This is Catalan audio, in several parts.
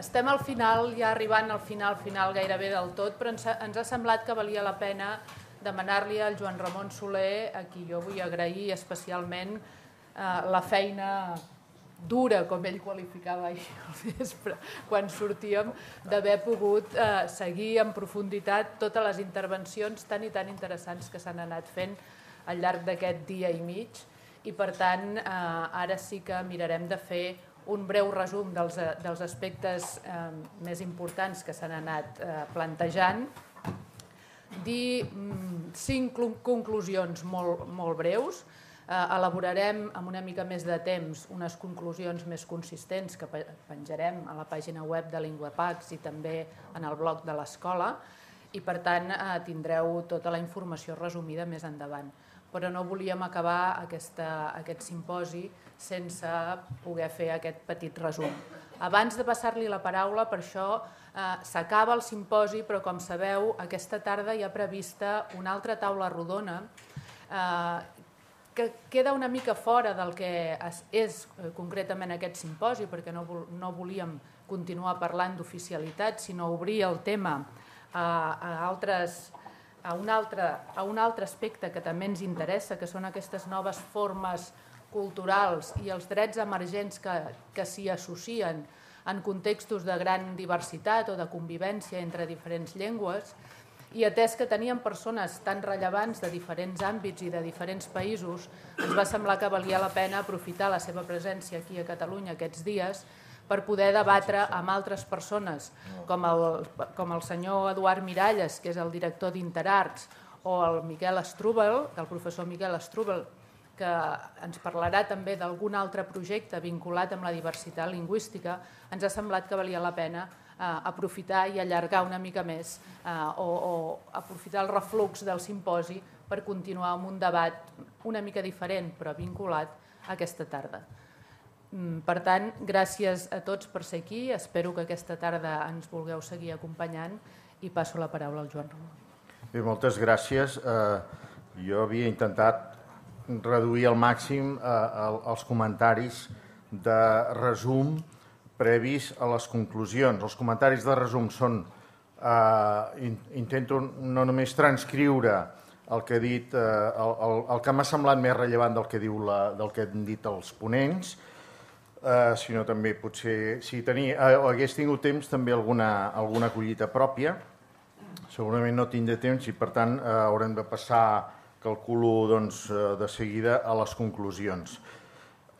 Estem al final, ja arribant al final gairebé del tot, però ens ha semblat que valia la pena demanar-li al Joan Ramon Soler, a qui jo vull agrair especialment la feina dura, com ell qualificava ahir al vespre, quan sortíem, d'haver pogut seguir en profunditat totes les intervencions tan i tan interessants que s'han anat fent al llarg d'aquest dia i mig, i per tant ara sí que mirarem de fer un breu resum dels aspectes més importants que s'han anat plantejant, dir 5 conclusions molt breus, elaborarem amb una mica més de temps unes conclusions més consistents que penjarem a la pàgina web de LinguaPax i també en el blog de l'escola, i per tant tindreu tota la informació resumida més endavant. Però no volíem acabar aquest simposi sense poder fer aquest petit resum. Abans de passar-li la paraula, per això s'acaba el simposi, però com sabeu, aquesta tarda hi ha prevista una altra taula rodona que queda una mica fora del que és concretament aquest simposi, perquè no volíem continuar parlant d'oficialitat, sinó obrir el tema a un altre aspecte que també ens interessa, que són aquestes noves formes culturals i els drets emergents que s'hi associen en contextos de gran diversitat o de convivència entre diferents llengües, i atès que teníem persones tan rellevants de diferents àmbits i de diferents països, ens va semblar que valia la pena aprofitar la seva presència aquí a Catalunya aquests dies per poder debatre amb altres persones, com el senyor Eduard Miralles, que és el director d'Interarts, o el Miquel Strubel, el professor Miquel Strubel, que ens parlarà també d'algun altre projecte vinculat amb la diversitat lingüística. Ens ha semblat que valia la pena aprofitar i allargar una mica més o aprofitar el reflux del simposi per continuar amb un debat una mica diferent però vinculat aquesta tarda. Per tant, gràcies a tots per ser aquí. Espero que aquesta tarda ens vulgueu seguir acompanyant i passo la paraula al Joan Ramon. Bé, moltes gràcies. Jo havia intentat reduir al màxim els comentaris de resum previs a les conclusions. Els comentaris de resum són... Intento no només transcriure el que he dit, el que m'ha semblat més rellevant del que han dit els ponents, sinó també potser, si hagués tingut temps, també alguna collita pròpia. Segurament no tindré temps i, per tant, haurem de passar, calculo, de seguida a les conclusions.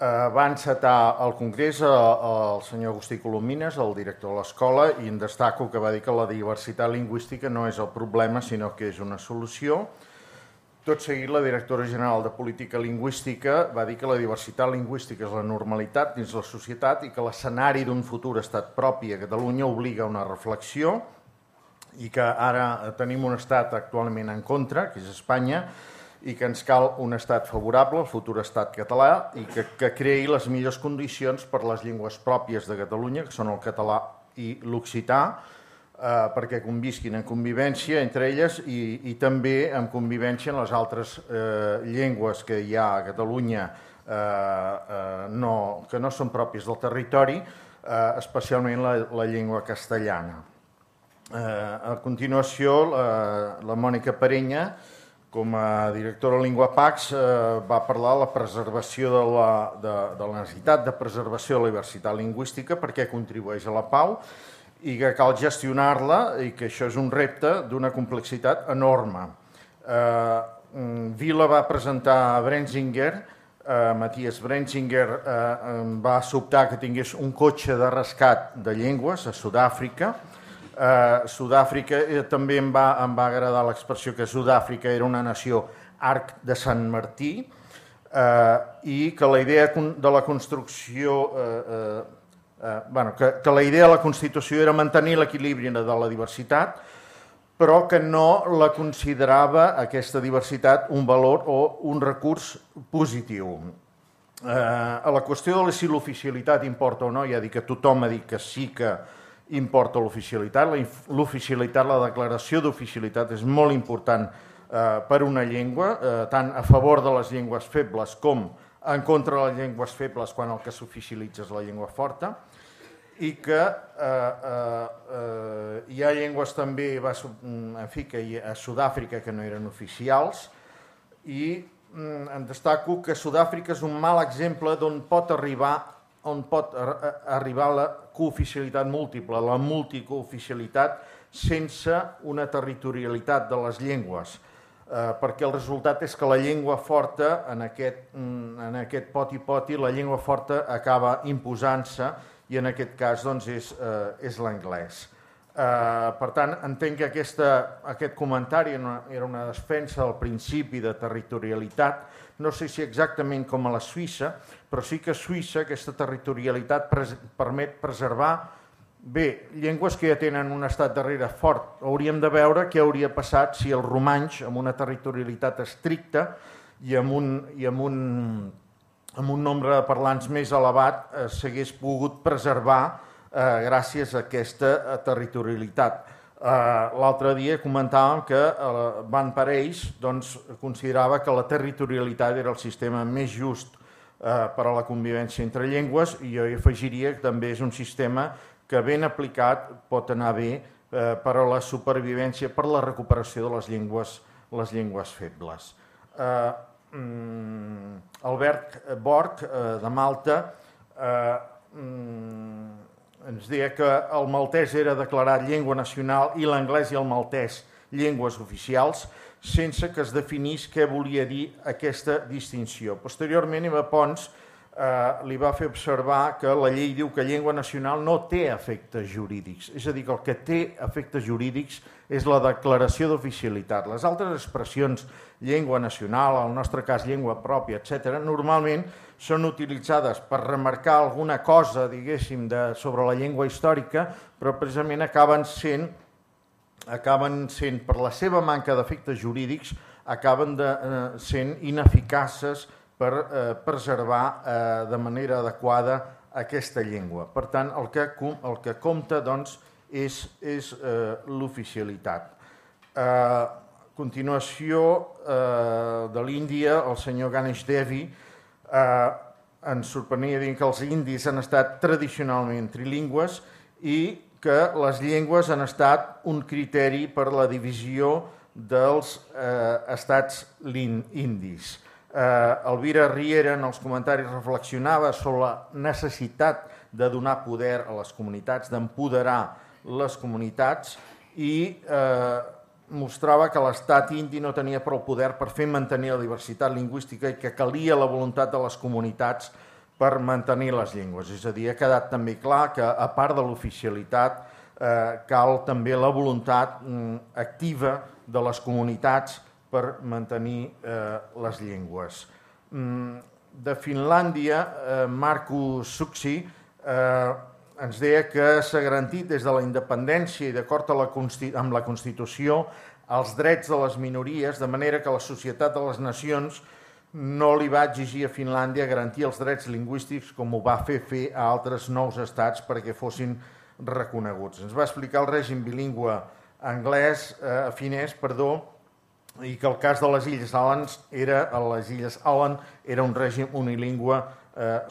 Va encetar el congrés el senyor Agustí Colomines, el director de l'escola, i en destaco que va dir que la diversitat lingüística no és el problema, sinó que és una solució. Tot seguit, la directora general de Política Lingüística va dir que la diversitat lingüística és la normalitat dins la societat i que l'escenari d'un futur estat propi a Catalunya obliga a una reflexió i que ara tenim un estat actualment en contra, que és Espanya, i que ens cal un estat favorable, el futur estat català, i que creï les millors condicions per les llengües pròpies de Catalunya, que són el català i l'occità, perquè convisquin en convivència entre elles i també en convivència en les altres llengües que hi ha a Catalunya que no són pròpies del territori, especialment la llengua castellana. A continuació, la Mònica Parenya, com a directora de LinguaPax, va parlar de la preservació de la necessitat de preservació de la diversitat lingüística perquè contribueix a la pau i que cal gestionar-la i que això és un repte d'una complexitat enorme. Vila va presentar Brenzinger, Matthias Brenzinger va sobtar que tingués un cotxe de rescat de llengües a Sud-àfrica. Sud-àfrica també em va agradar l'expressió que Sud-àfrica era una nació arc de Sant Martí i que la idea de la construcció... que la idea de la Constitució era mantenir l'equilibri de la diversitat, però que no la considerava aquesta diversitat un valor o un recurs positiu. A la qüestió de si l'oficialitat importa o no, ja dic que tothom ha dit que sí que importa l'oficialitat. L'oficialitat, la declaració d'oficialitat és molt important per una llengua, tant a favor de les llengües febles com en contra de les llengües febles quan el que s'oficialitza és la llengua forta. i que hi ha llengües també, en fi, que a Sud-àfrica que no eren oficials, i em destaco que Sud-àfrica és un mal exemple d'on pot arribar la cooficialitat múltiple, la multicooficialitat, sense una territorialitat de les llengües, perquè el resultat és que la llengua forta, en aquest poti-poti, la llengua forta acaba imposant-se, i en aquest cas doncs, és l'anglès. Per tant, entenc que aquest comentari era una defensa del principi de territorialitat, no sé si exactament com a la Suïssa, però sí que a Suïssa aquesta territorialitat permet preservar bé, llengües que ja tenen un estat darrere fort. Hauríem de veure què hauria passat si els romanys, amb una territorialitat estricta i amb un nombre de parlants més elevat, s'hagués pogut preservar gràcies a aquesta territorialitat. L'altre dia comentàvem que Van Parijs considerava que la territorialitat era el sistema més just per a la convivència entre llengües, i jo hi afegiria que també és un sistema que ben aplicat pot anar bé per a la supervivència, per la recuperació de les llengües febles. Albert Borg, de Malta, ens deia que el maltès era declarat llengua nacional i l'anglès i el maltès llengües oficials, sense que es definís què volia dir aquesta distinció. Posteriorment, Eva Pons li va fer observar que la llei diu que llengua nacional no té efectes jurídics, és a dir, que el que té efectes jurídics és la declaració d'oficialitat. Les altres expressions, llengua nacional, en el nostre cas llengua pròpia, etc., normalment són utilitzades per remarcar alguna cosa, diguéssim, sobre la llengua històrica, però precisament acaben sent, per la seva manca d'efectes jurídics, acaben sent ineficaces per preservar de manera adequada aquesta llengua. Per tant, el que compta és l'oficialitat. A continuació, de l'Índia, el senyor Ganesh Devi ens sorprenia dient que els indis han estat tradicionalment trilingües i que les llengües han estat un criteri per la divisió dels estats indis. Elvira Riera en els comentaris reflexionava sobre la necessitat de donar poder a les comunitats, d'empoderar les comunitats, i mostrava que l'estat indi no tenia prou poder per fer mantenir la diversitat lingüística i que calia la voluntat de les comunitats per mantenir les llengües. És a dir, ha quedat també clar que, a part de l'oficialitat, cal també la voluntat activa de les comunitats per mantenir les llengües. De Finlàndia, Markku Suksi ens deia que s'ha garantit des de la independència i d'acord amb la Constitució els drets de les minories, de manera que la Societat de les Nacions no li va exigir a Finlàndia garantir els drets lingüístics com ho va fer a altres nous estats perquè fossin reconeguts. Ens va explicar el règim bilingüe finès, i que el cas de les Illes Åland era un règim unilingüe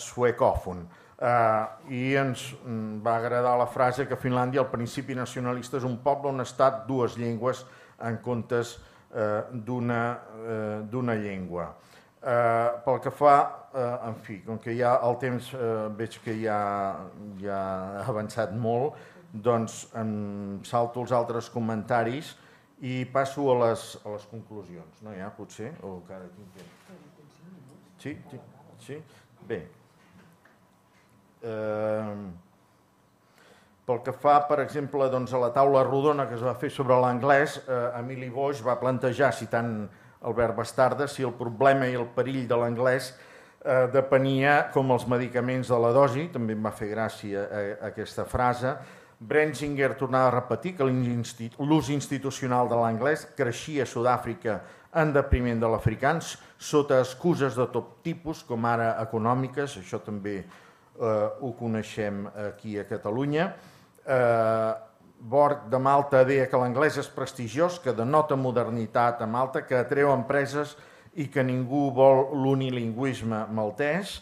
suecòfon. I ens va agradar la frase que a Finlàndia el principi nacionalista és un poble, un estat, dues llengües en comptes d'una llengua. Pel que fa, en fi, com que ja el temps veig que ja ha avançat molt, doncs em salto els altres comentaris i passo a les conclusions. No hi ha, potser? O encara tinc temps? Sí? Bé. Pel que fa, per exemple, a la taula rodona que es va fer sobre l'anglès, Emili Boix va plantejar, citant Albert Bastarda, si el problema i el perill de l'anglès depenia com els medicaments de la dosi, també em va fer gràcia aquesta frase. Brenzinger tornava a repetir que l'ús institucional de l'anglès creixia a Sud-àfrica en detriment de l'africans sota excuses de tot tipus, com ara econòmiques, això també ho coneixem aquí a Catalunya. Borg de Malta deia que l'anglès és prestigiós, que denota modernitat a Malta, que atreu empreses i que ningú vol l'unilingüisme maltès.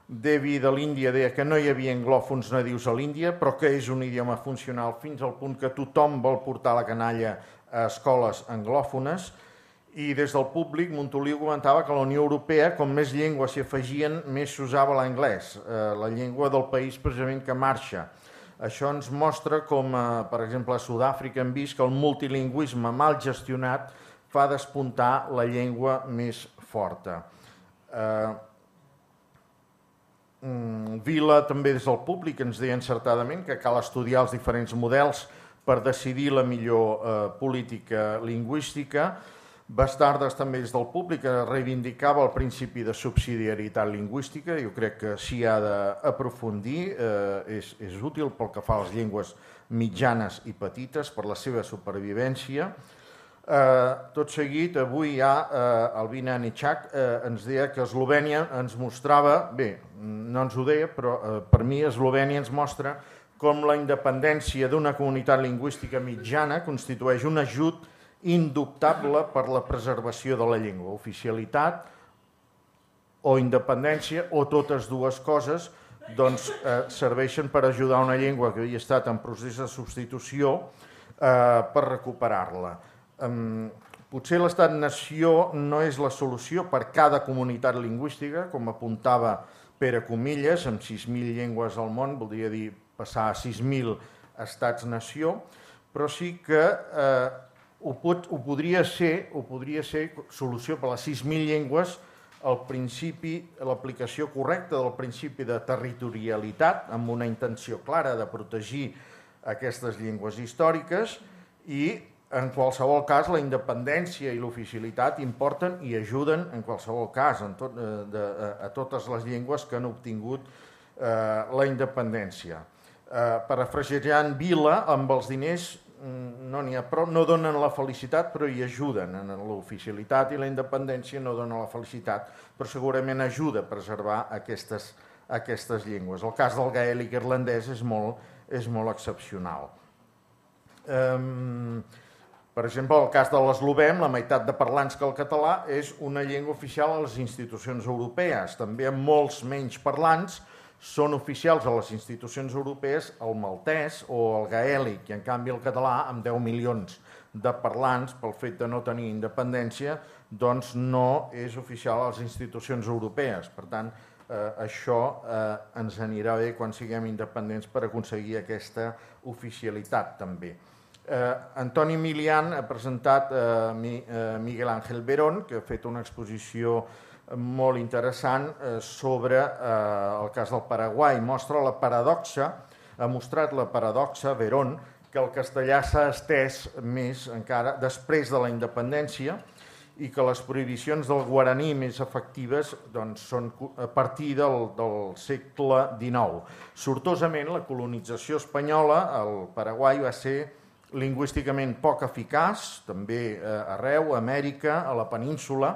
Devi de l'Índia deia que no hi havia anglòfons nadius a l'Índia, però que és un idioma funcional fins al punt que tothom vol portar la canalla a escoles anglòfones. I des del públic, Montoliu comentava que a la Unió Europea, com més llengües s'hi afegien, més s'usava l'anglès, la llengua del país precisament que marxa. Això ens mostra com, per exemple, a Sud-àfrica hem vist que el multilingüisme mal gestionat fa despuntar la llengua més forta. Vila també des del públic ens deia encertadament que cal estudiar els diferents models per decidir la millor política lingüística. Bastardes també des del públic reivindicava el principi de subsidiarietat lingüística. Jo crec que s'hi ha d'aprofundir, és útil pel que fa a les llengües mitjanes i petites per la seva supervivència. Tot seguit, avui ja el Vina Anichak ens deia que Eslovènia ens mostrava, bé, no ens ho deia, però per mi Eslovènia ens mostra com la independència d'una comunitat lingüística mitjana constitueix un ajut indubtable per la preservació de la llengua. Oficialitat o independència, o totes dues coses, doncs serveixen per ajudar una llengua que havia estat en procés de substitució per recuperar-la. Potser l'estat-nació no és la solució per cada comunitat lingüística, com apuntava Pere Comillas, amb 6.000 llengües al món, voldria dir passar a 6.000 estats-nació, però sí que ho podria ser solució per a les 6.000 llengües l'aplicació correcta del principi de territorialitat, amb una intenció clara de protegir aquestes llengües històriques, i en qualsevol cas, la independència i l'oficialitat importen i ajuden en qualsevol cas a totes les llengües que han obtingut la independència. Parafrasejant Vila, amb els diners no n'hi ha prou, no donen la felicitat, però hi ajuden. L'oficialitat i la independència no donen la felicitat, però segurament ajuda a preservar aquestes llengües. El cas del gaèlic irlandès és molt excepcional. Per exemple, el cas de l'eslovè, la meitat de parlants que el català, és una llengua oficial a les institucions europees. També amb molts menys parlants són oficials a les institucions europees el maltès o el gaèlic, i en canvi el català, amb 10 milions de parlants, pel fet de no tenir independència, doncs no és oficial a les institucions europees. Per tant, això ens anirà bé quan siguem independents per aconseguir aquesta oficialitat també. Antoni Milian ha presentat Miguel Ángel Verón, que ha fet una exposició molt interessant sobre el cas del Paraguai. Mostra la paradoxa, ha mostrat la paradoxa, Verón, que el castellà s'ha estès més encara després de la independència i que les prohibicions del guaraní més efectives són a partir del segle XIX. Sortosament, la colonització espanyola al Paraguai va ser lingüísticament poc eficaç, també arreu, a Amèrica, a la península,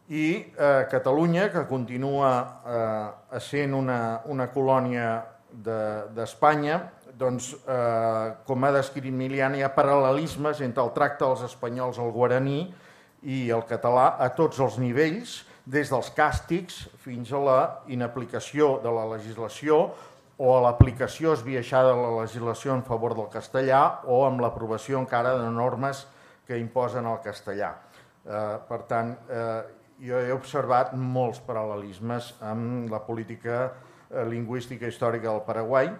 i Catalunya, que continua essent una colònia d'Espanya, doncs, com ha descrit Milian, hi ha paral·lelismes entre el tracte dels espanyols al guaraní i el català a tots els nivells, des dels càstigs fins a la inaplicació de la legislació o a l'aplicació esbiaixada de la legislació en favor del castellà o amb l'aprovació encara de normes que imposen el castellà. Per tant, jo he observat molts paral·lelismes amb la política lingüística històrica del Paraguai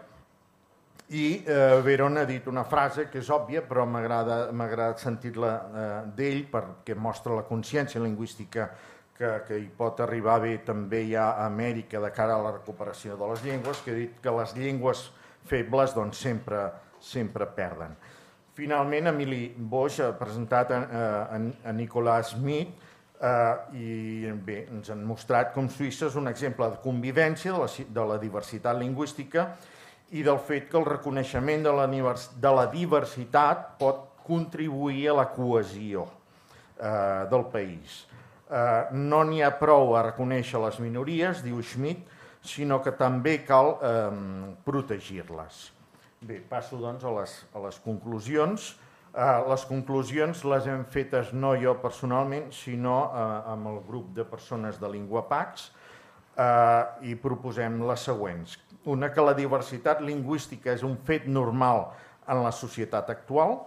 i Verón ha dit una frase que és òbvia, però m'ha agradat sentir-la d'ell perquè mostra la consciència lingüística que hi pot arribar bé també ja a Amèrica de cara a la recuperació de les llengües, que ha dit que les llengües febles sempre perden. Finalment, Emili Boix ha presentat a Nicolas Smith i bé, ens han mostrat com Suïssa és un exemple de convivència de la diversitat lingüística i del fet que el reconeixement de la diversitat pot contribuir a la cohesió del país. No n'hi ha prou a reconèixer les minories, diu Schmidt, sinó que també cal protegir-les. Bé, passo doncs a les conclusions. Les conclusions les hem fetes no jo personalment, sinó amb el grup de persones de LinguaPax. i proposem les següents. Una, que la diversitat lingüística és un fet normal en la societat actual.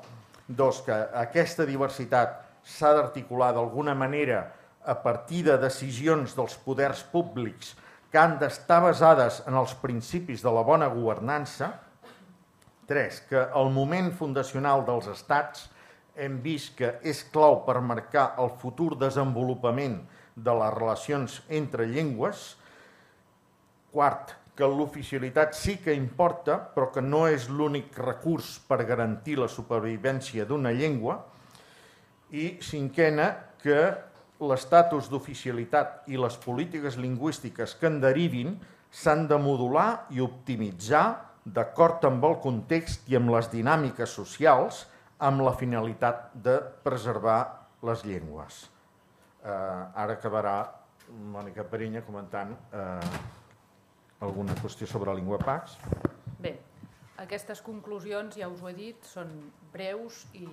Dos, que aquesta diversitat s'ha d'articular d'alguna manera a partir de decisions dels poders públics que han d'estar basades en els principis de la bona governança. Tres, que el moment fundacional dels estats hem vist que és clau per marcar el futur desenvolupament de les relacions entre llengües. Quart, que l'oficialitat sí que importa, però que no és l'únic recurs per garantir la supervivència d'una llengua. I cinquena, que l'estatus d'oficialitat i les polítiques lingüístiques que en derivin s'han de modular i optimitzar d'acord amb el context i amb les dinàmiques socials, amb la finalitat de preservar les llengües. Ara acabarà Mònica Perinya comentant alguna qüestió sobre LinguaPax. Bé, aquestes conclusions, ja us ho he dit, són breus i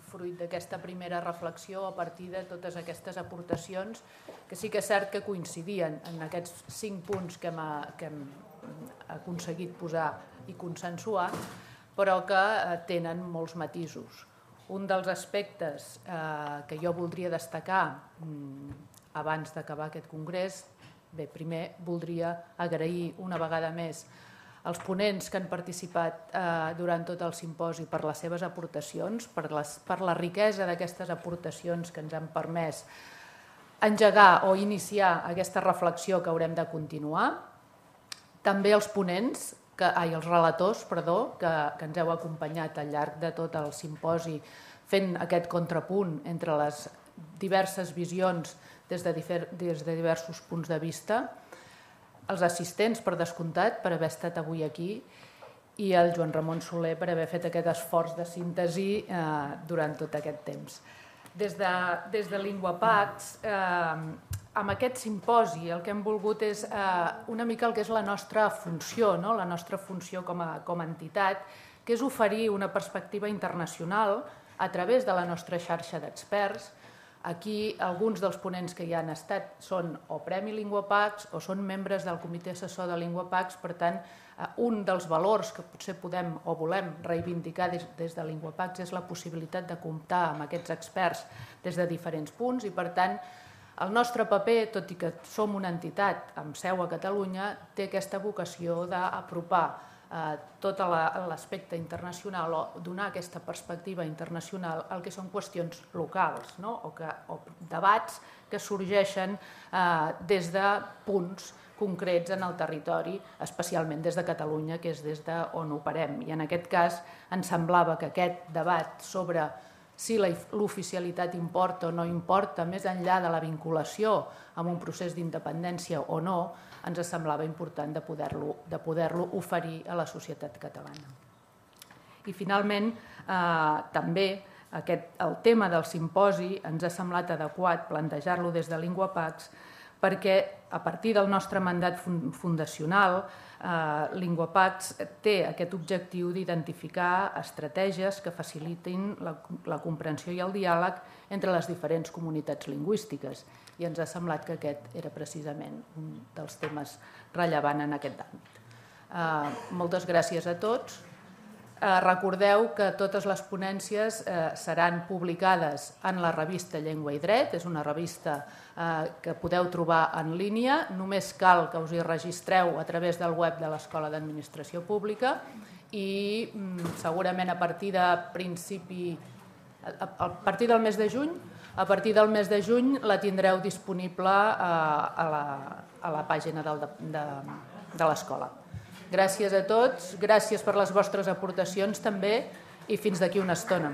fruit d'aquesta primera reflexió a partir de totes aquestes aportacions, que sí que és cert que coincidien en aquests 5 punts que hem aconseguit posar i consensuar, però que tenen molts matisos. Un dels aspectes que jo voldria destacar abans d'acabar aquest congrés, bé, primer voldria agrair una vegada més als ponents que han participat durant tot el simposi per les seves aportacions, per la riquesa d'aquestes aportacions que ens han permès engegar o iniciar aquesta reflexió que haurem de continuar. També als ponents, els relators, que ens heu acompanyat al llarg de tot el simposi fent aquest contrapunt entre les diverses visions des de diversos punts de vista, els assistents, per descomptat, per haver estat avui aquí, i el Joan Ramon Soler per haver fet aquest esforç de síntesi durant tot aquest temps. Des de LinguaPax, amb aquest simposi el que hem volgut és una mica el que és la nostra funció, la nostra funció com a entitat, que és oferir una perspectiva internacional a través de la nostra xarxa d'experts. Aquí alguns dels ponents que hi han estat són o Premi LinguaPax o són membres del comitè assessor de LinguaPax, per tant, un dels valors que potser podem o volem reivindicar des de LinguaPax és la possibilitat de comptar amb aquests experts des de diferents punts i, per tant, el nostre paper, tot i que som una entitat amb seu a Catalunya, té aquesta vocació d'apropar tot l'aspecte internacional o donar aquesta perspectiva internacional al que són qüestions locals o debats que sorgeixen des de punts concrets en el territori, especialment des de Catalunya, que és des d'on operem. I en aquest cas ens semblava que aquest debat sobre si l'oficialitat importa o no importa, més enllà de la vinculació amb un procés d'independència o no, ens semblava important de poder-lo oferir a la societat catalana. I finalment, també el tema del simposi ens ha semblat adequat plantejar-lo des de LinguaPax perquè a partir del nostre mandat fundacional LinguaPax té aquest objectiu d'identificar estratègies que facilitin la comprensió i el diàleg entre les diferents comunitats lingüístiques i ens ha semblat que aquest era precisament un dels temes rellevants en aquest àmbit. Moltes gràcies a tots. Recordeu que totes les ponències seran publicades en la revista Llengua i Dret, és una revista que podeu trobar en línia, només cal que us hi registreu a través del web de l'Escola d'Administració Pública i segurament a partir del mes de juny la tindreu disponible a la pàgina de l'escola. Gràcies a tots, gràcies per les vostres aportacions també i fins d'aquí una estona.